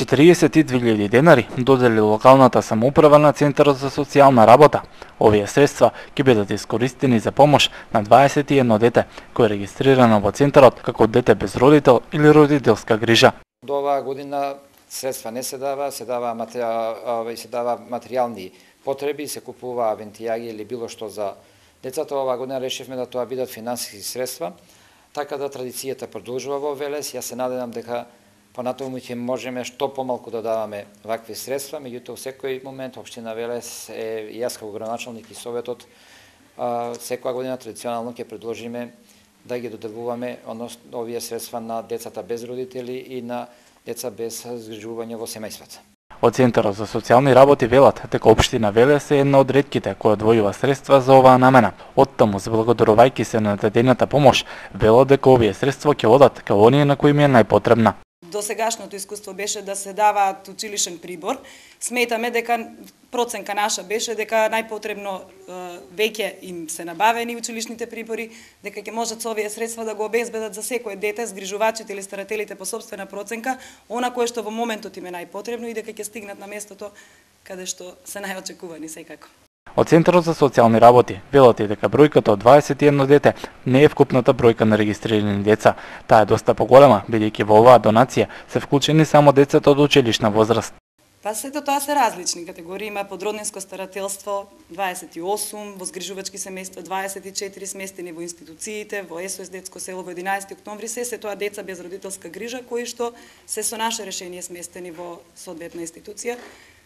42.000 денари додели локалната самоуправа на Центарот за социјална работа. Овие средства ќе бидат искористени за помош на 21 дете кој е регистрирано во Центарот како дете без родител или родителска грижа. До оваа година средства не се дава, се дава материјални потреби, се купува вентијаги или било што за децата. Оваа година решивме да тоа бидат финансиски средства, така да традицијата продолжува во Велес. Јас се надевам дека понатаму ќе можеме што помалку да даваме вакви средства, меѓутоа во секој момент општина Велес и јас како градоначалник и советот секоја година традиционално ќе предложиме да ги доделуваме овие средства на децата без родители и на деца без згрижување во семејствата. Од Центарот за социјални работи велат дека општина Велес е една од ретките која одвојува средства за оваа намена. Оттаму, заблагодарувајќи се на дадената помош, велат дека овие средства ќе одат кај оние на кои им е најпотребна. Досегашното искуство беше да се даваат училишен прибор. Сметаме дека проценка наша беше дека најпотребно веќе им се набавени училишните прибори, дека ќе можат со овие средства да го обезбедат за секое дете, згрижувачите или старателите по сопствена проценка, она кое што во моментот им е најпотребно и дека ќе стигнат на местото каде што се најочекувани секако. Од Центарот за социјални работи велат и дека бројката од 21 дете не е вкупната бројка на регистрирани деца. Таа е доста поголема, бидејќи во оваа донација се вклучени само децата од училишна возраст. Па сето тоа се различни категории, има подроднинско старателство 28, во згрижувачки семејства 24, сместени во институциите, во СОС детско село во 11 октомври, се тоа деца без родителска грижа кои што се со наше решение сместени во соодветна институција.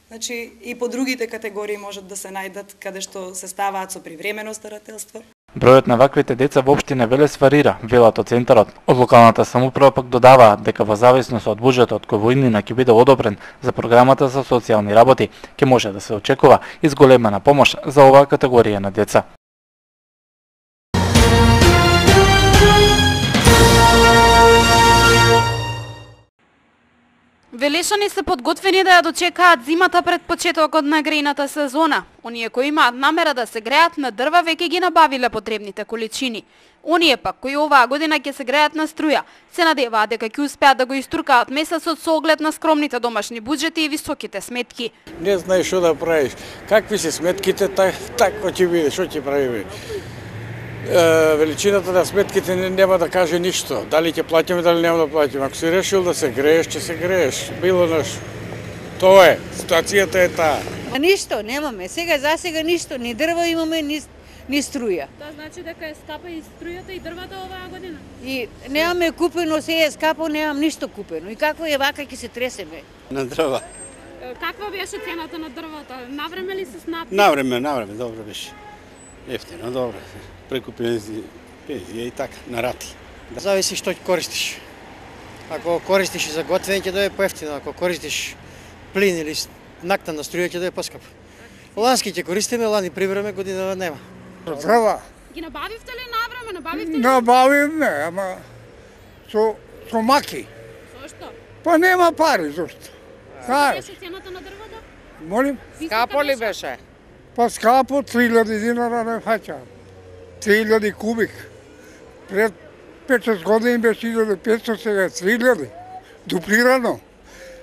Значи и по другите категории можат да се најдат каде што се ставаат со привремено старателство. Бројот на ваквите деца во општина Велес варира, велат од Центарот. Од локалната самоуправа пак додаваат дека во зависност од буџетот кој во иднина ќе биде одобрен за програмата за социјални работи, ќе може да се очекува изголемена помош за оваа категорија на деца. Велешани се подготвени да ја дочекаат зимата пред почетокот на грејната сезона. Оние кои имаат намера да се греат на дрва веќе ги набавиле потребните количини. Оние пак кои оваа година ќе се греат на струја, се надеваат дека ќе успеат да го иструкаат месецот со оглед на скромните домашни буџети и високите сметки. Не знаеш што да правиш. Какви се сметките, тако ќе биде, што ќе правиме. Величината на сметките нема да каже ништо. Дали ќе платиме, дали нема да платиме. Ако си решил да се грееш, ќе се грееш. Било нешто. Тоа е, ситуацијата е таа. Ништо немаме. Засега ништо, ни дрва имаме, ни струја. Тоа значи дека е скапа и струјата и дрвата оваа година? И немаме купено, се е скапо, немам ништо купено. И како е вака ќе се тресеме? На дрва. Каква беше цената на дрвата? Навреме ли се снапи? Навреме, добро беше. Ефтино, добро. Преку пензија и така, на рати. Зависи што ќе користиш. Ако користиш за готвење ќе дојде поевтино, ако користиш плин или накта на струја ќе дојде поскапо. Лански ќе користиме, лани прибраме, година нема. Дрва. Ги набавивте ли навреме? Набавивте ли? Набавивме, ама со маки. Со што? Па нема пари, зошто? Каква беше цената на дрвата? Молим? Скапо ли беше? Па скапо 3000 динара не фаќа. 3000 кубик. Пред 5-6 години беше 1500, сега 3000. Дуплирано.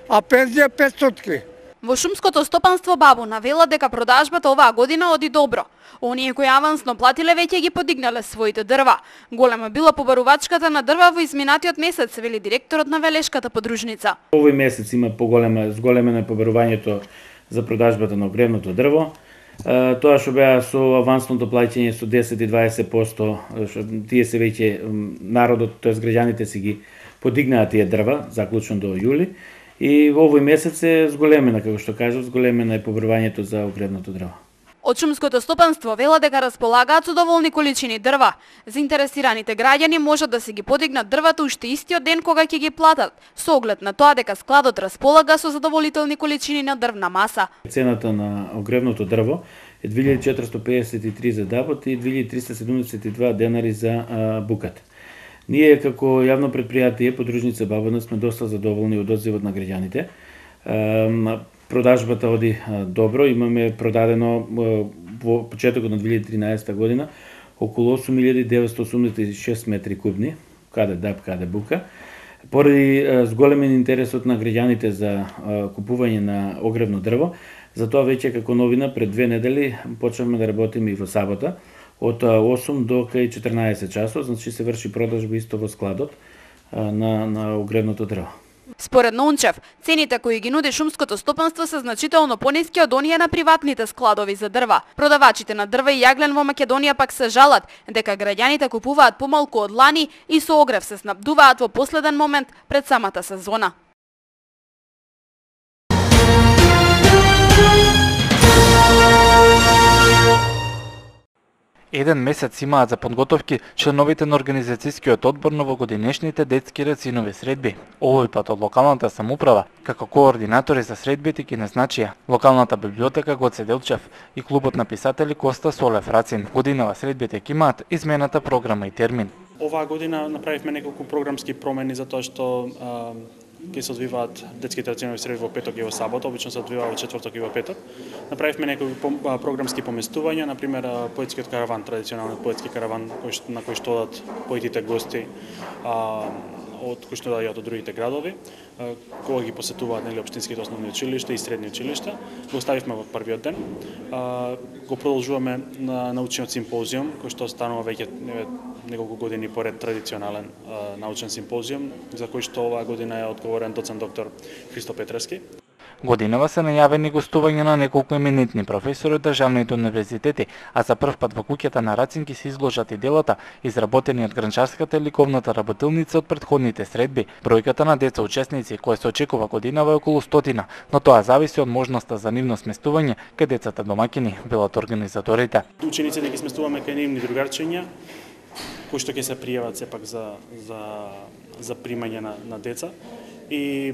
А пензија 500. Во шумското стопанство Бабуна велат дека продажбата оваа година оди добро. Оние кои авансно платиле веќе ги подигнале своите дрва. Голема била побарувачката на дрва во изминатиот месец, вели директорот на Велешката подружница. Овој месец има зголемено побарувањето за продажбата на огревното дрво. Тоа што беа со авансното плаќање со 10 и 20%, тие се веќе народот, тоест граѓаните си ги подигнаа тие дрва, заклучно до јули. И во овој месец е зголемена, како што кажав, зголемена е побарувањето за огревното дрво. Од шумското стопанство вела дека располагаат со доволни количини дрва. Заинтересираните граѓани можат да се ги подигнат дрвата уште истиот ден кога ќе ги платат, со оглед на тоа дека складот располага со задоволителни количини на дрвна маса. Цената на огревното дрво е 2453 за дабот и 2372 денари за букат. Ние како јавно предпријатие подружница Бабуна сме доста задоволни од одзивот на граѓаните. Продажбата оди добро, имаме продадено во почетокот на 2013 година околу 8986 метри кубни, каде даб, каде бука. Поради зголемен интересот на граѓаните за купување на огревно дрво, затоа веќе како новина пред 2 недели почнавме да работиме и во сабота од 8 до кај 14 часот, значи се врши продажба исто во складот на огревното дрво. Според Нончев, цените кои ги нуди шумското стопанство се значително пониски од оние на приватните складови за дрва. Продавачите на дрва и јаглен во Македонија пак се жалат дека граѓаните купуваат помалку од лани и со огрев се снабдуваат во последен момент пред самата сезона. Еден месец имаат за подготовки членовите на организацијскиот одбор на овогодинешните детски рацинови средби. Овој пат од локалната самоуправа, како координатори за средбите ги назначија локалната библиотека Гоце Делчев и клубот на писатели Коста Солев Рацин. Годинава средбите ќе имаат измената програма и термин. Оваа година направивме неколку програмски промени затоа што ќе се одвиваат детските рацинови средби во петок и во сабота, обично се одвива во четврток и во петок. Направивме некои програмски поместувања, на пример поетскиот караван, традиционалниот поетски караван на кој што одат поетите гости од кои што доаѓаат од другите градови, кога ги посетуваат општинските основни училишта и средни училишта. Го оставивме во првиот ден. Го продолжуваме на научниот симпозиум, кој што станува веќе неколку години поред традиционален научен симпозиум, за кој што оваа година е одговорен доцент доктор Христо Петревски. Годинава се најавени гостувања на неколку еминентни професори од државните универзитети, а за прв пат во куќата на Рацин ќе се изложат и делата изработени од Гранчарската и ликовната работилница од претходните средби. Бројката на деца учесници која се очекува годинава е околу 100, но тоа зависи од можноста за нивно сместување кај децата домаќини, велат организаторите. Учениците ги сместуваме кај нивни другарчиња, кои што ќе се пријават сепак за примање на деца и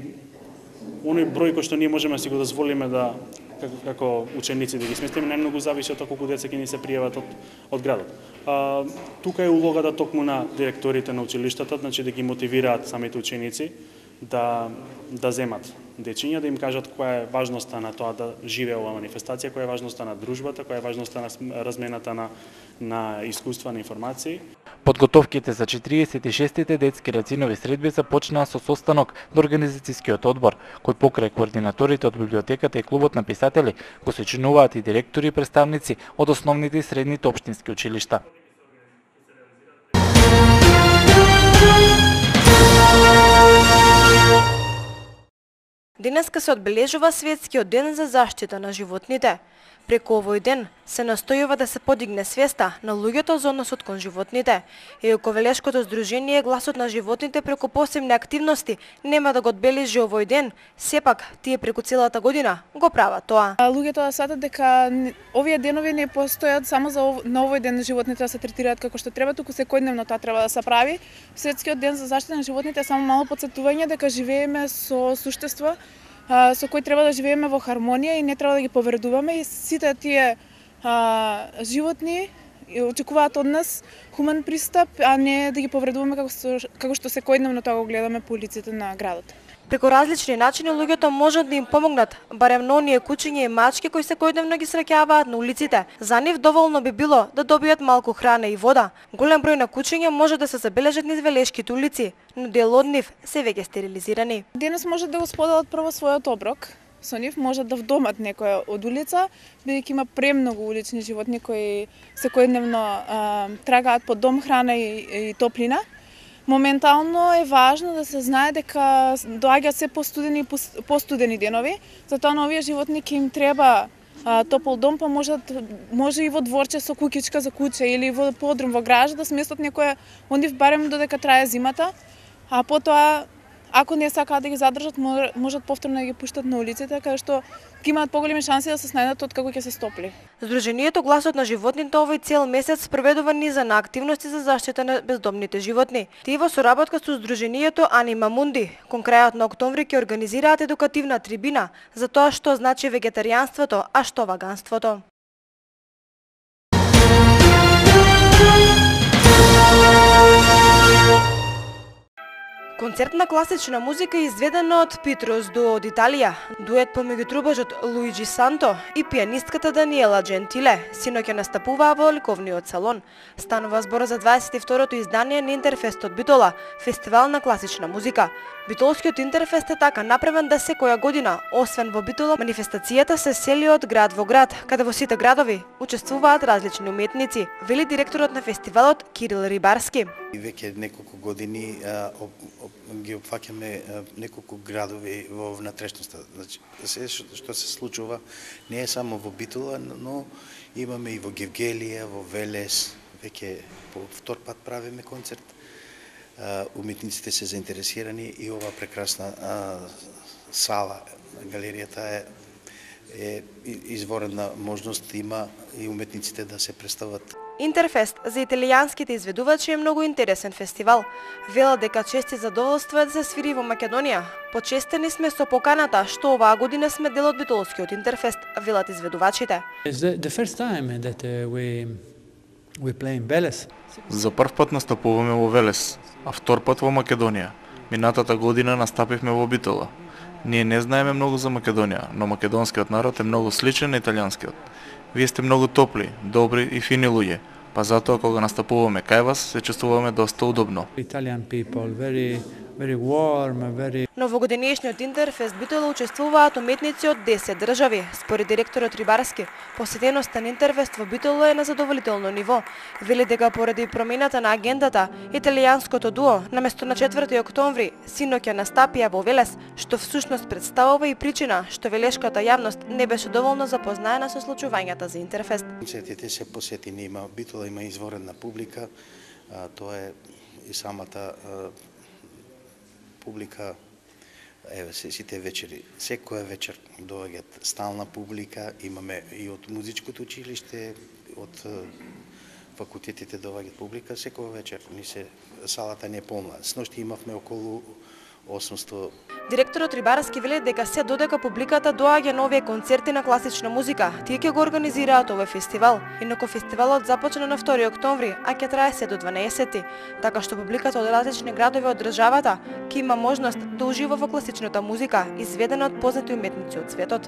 оној број кој што ние можеме да си го дозволиме да како ученици да ги сместиме, најмногу зависи од колку деца ќе ни се пријават од градот. Тука е улогата токму на директорите на училиштата, значи да ги мотивираат самите ученици да земат дечиња, да им кажат која е важноста на тоа да живее оваа манифестација, која е важноста на дружбата, која е важноста на размената на искуства, на информации. Подготовките за 46-тите детски рацинови средби започнаа со состанок на организацијскиот одбор, кој покрај координаторите од библиотеката и клубот на писатели го сочинуваат и директори и представници од основните и средните општински училишта. Денеска се одбележува Светскиот ден за заштита на животните. Преку овој ден се настојува да се подигне свеста на луѓето за односот кон животните. Ековелешкото здружение Гласот на животните преку посебни активности нема да го одбележи овој ден, сепак тие преку целата година го прават тоа. Луѓето да сватат дека овие денови не постојат само на овој ден животните да се третираат како што треба, туку секојдневно тоа треба да се прави. Светскиот ден за заштита на животните е само мало потсетување дека живееме со суштества со кои треба да живееме во хармонија и не треба да ги повредуваме, и сите тие животни очекуваат од нас хуман пристап, а не да ги повредуваме како што секојдневно тоа го гледаме по улиците на градот. Преку различни начини луѓето можат да им помогнат, барем на оние кучиња и мачки кои секојдневно ги среќаваат на улиците. За нив доволно би било да добијат малку храна и вода. Голем број на кучиња може да се забележат низ велешките улици, но дел од нив се веќе стерилизирани. Денес можат да го споделат прво својот оброк. Со нив можат да вдомат некоја од улица, бидејќи има премногу улични животни кои секојдневно трагаат по дом, храна и топлина. Моментално е важно да се знае дека доаѓаат се постудени денови, затоа на овие животни ќе им треба топол дом, па може и во дворче со куќичка за куче или во подрум во гаража да сместат некоја од нив барем додека трае зимата, а потоа ако не сакаат да ги задржат, можат повторно да ги пуштат на улиците, каде што ќе имаат поголеми шанси да се снајдат откако ќе се стопли. Здруженијето Гласот на животните овој цел месец спроведува низа на активности за заштита на бездомните животни. Тие во соработка со Здруженијето Анима Мунди, кон крајот на октомври ќе организираат едукативна трибина за тоа што значи вегетаријанството, а што ваганството. Концерт на класична музика изведен од Петрос Дуо од Италија, дует помеѓу трубажот Луиджи Санто и пианистката Даниела Джентиле, синоќа настапуваа во ликовниот салон. Станува збор за 22-то издание на Интерфест од Битола, фестивал на класична музика. Битолскиот Интерфест е така направен да секоја година, освен во Битола, манифестацијата се сели од град во град, каде во сите градови учествуваат различни уметници, вели директорот на фестивалот Кирил Рибарски. И веќе неколку години ги опфаќаме неколку градови во внатрешноста. Значи, се што се случува не е само во Битола, но имаме и во Гевгелија, во Велес, веќе по втор пат правиме концерт. Уметниците се заинтересирани и ова прекрасна сала, галеријата е изворена можност има и уметниците да се представат. Интерфест за италијанските изведувачи е многу интересен фестивал. Велат дека чести задоволство е да се свири во Македонија. Почестени сме со поканата што оваа година сме дел од Битолскиот Интерфест, велат изведувачите. За прв пат настапуваме во Велес, а втор пат во Македонија. Минатата година настапивме во Битола. Ние не знаеме многу за Македонија, но македонскиот народ е многу сличен на италијанскиот. Вие сте многу топли, добри и фини луѓе, па затоа кога настапуваме кај вас се чувствуваме доста удобно. Но во годинешниот Интерфест Битола учествуваат уметници од 10 држави. Според директорот Рибарски, посетеноста на Интерфест во Битола е на задоволително ниво. Вели дека поради промената на агендата, италијанското дуо наместо на 4 октомври синоќа настапија во Велес, што всушност представува и причина што велешката јавност не беше доволно запознаена со случувањата за Интерфест. Концертите се посетени, има Битола има изворена публика, тоа е и самата публика, еве сите вечери, секоја вечер доаѓаат стална публика, имаме и од музичкото училиште, од факултетите доаѓаат публика, секоја вечер салата не е полна. Сношти имавме околу 800. Директорот Рибарски вели дека се додека публиката доаѓа на овие концерти на класична музика, тие ќе го организираат овој фестивал. Инаку фестивалот започна на 2 октомври, а ќе трае се до 12, така што публиката од различни градови од државата ќе има можност да ужива во класичната музика, изведена од познати уметници од светот.